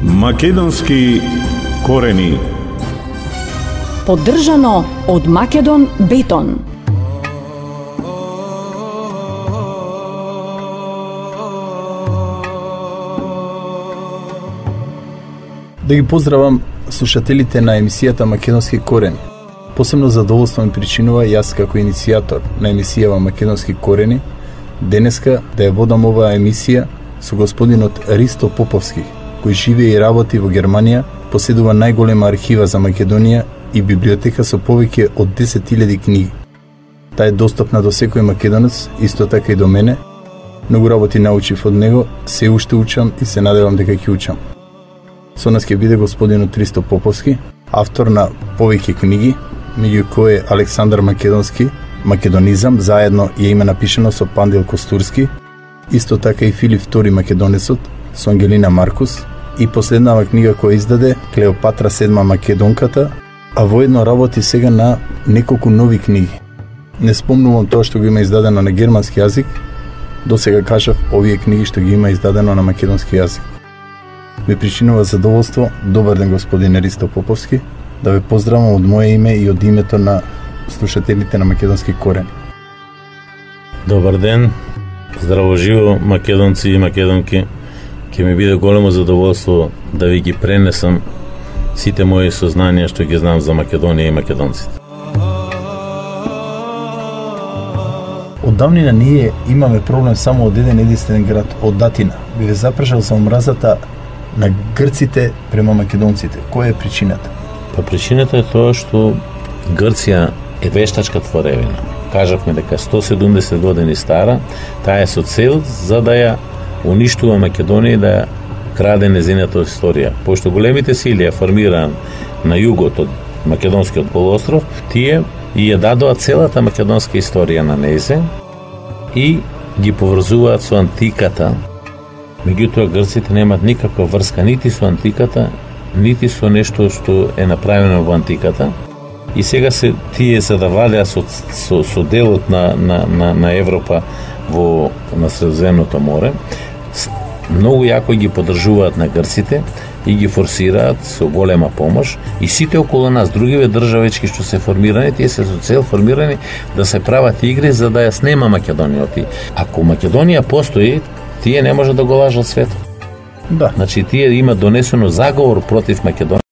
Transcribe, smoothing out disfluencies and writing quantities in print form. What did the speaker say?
Македонски корени. Поддржано од Македон Бетон. Да ги поздравам слушателите на емисијата Македонски корени. Посебно задоволство ми причинува јас како иницијатор на емисијава Македонски корени денеска да ја водам оваа емисија со господинот Ристо Поповски, кој живее и работи во Германија, поседува најголема архива за Македонија и библиотека со повеќе од 10.000 книги. Таа е достапна до секој македонец, исто така и до мене. Многу работи научив од него, се уште учам и се надевам дека ќе учам. Со нас ќе биде господинот Ристо Поповски, автор на повеќе книги, меѓу кои е Александар Македонски, Македонизам, заедно ја има напишано со Пандил Костурски, исто така и Филип II Македонецот со Ангелина Маркус и последнава книга која издаде Клеопатра VII Македонката, а воедно работи сега на неколку нови книги. Не спомнувам тоа што го има издадено на германски јазик, досега кажав овие книги што ги има издадено на македонски јазик. Ме причинува задоволство, добар ден господин Ристо Поповски, да ве поздравам од моје име и од името на слушателите на Македонски корени. Добар ден, здраво живо македонци и македонки. Ќе ми биде големо задоволство да ви ги пренесам сите мои сознанија што ги знам за Македонија и македонците. Од давнина ние имаме проблем само од еден единствен град, од Атина. Би ве запрашал за омразата на грците према македонците. Која е причината? Па причината е тоа што Грција е вештачка творевина. Кажавме дека 170 години стара, таа е со цел за да ја уништува Македонија и да ја краде незината историја. Пошто големите сили ја формираат на југот од македонскиот полуостров, тие и ја дадоа целата македонска историја на незе и ги поврзуваат со антиката. Меѓутоа грците немаат никаква врска нити со антиката, нити со нешто што е направено во антиката. И сега се тие за да владеа со делот на Европа на Средоземното море, многу јако ги поддржуваат на грците и ги форсираат со голема помош и сите околу нас, другиве државички што се формирани, тие се со цел формирани да се прават игри за да ја снема Македонија. Ако Македонија постои, тие не може да го лажат светот. Да. Значи тие има донесено заговор против Македонија.